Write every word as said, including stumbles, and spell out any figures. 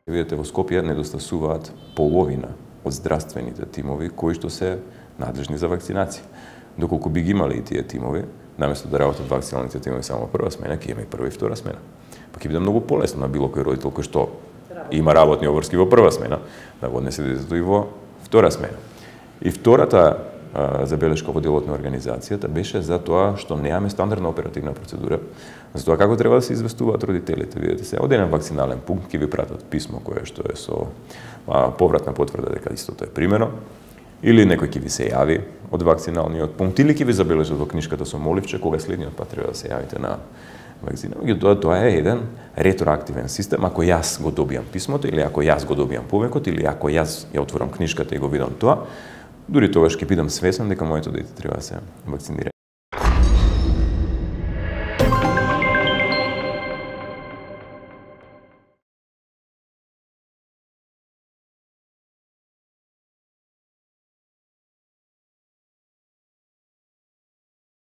Видете, во Скопје недостасуваат половина од здравствените тимови кои што се надлежни за вакцинација. Доколку би ги имали и тие тимови, наместо да работат вакциналните тимови само прва смена, ќе има и прва и втора смена. Па ќе биде многу полесно на било кој родител кој што има работни обврски во прва смена, да го однесе детето и во втора смена. И втората а, забелешка во делот на организацијата беше за тоа што немаме стандардна оперативна процедура, за тоа како треба да се известуваат родителите. Видете се, од еден вакцинален пункт ќе ви пратат писмо кое што е со а, повратна потврда дека истото е примено, или некој ќе ви се јави од вакциналниот пункт, или ќе ви забележат во книжката со моливче кога следниот пат треба да се јавите на вакцина. Меѓутоа, тоа е еден ретроактивен систем. Ако јас го добијам писмото, или ако јас го добијам повикот, или ако јас ја отворам книжката и го видам тоа, дури тогаш ќе бидам свесен дека моето дете треба да се вакцинира.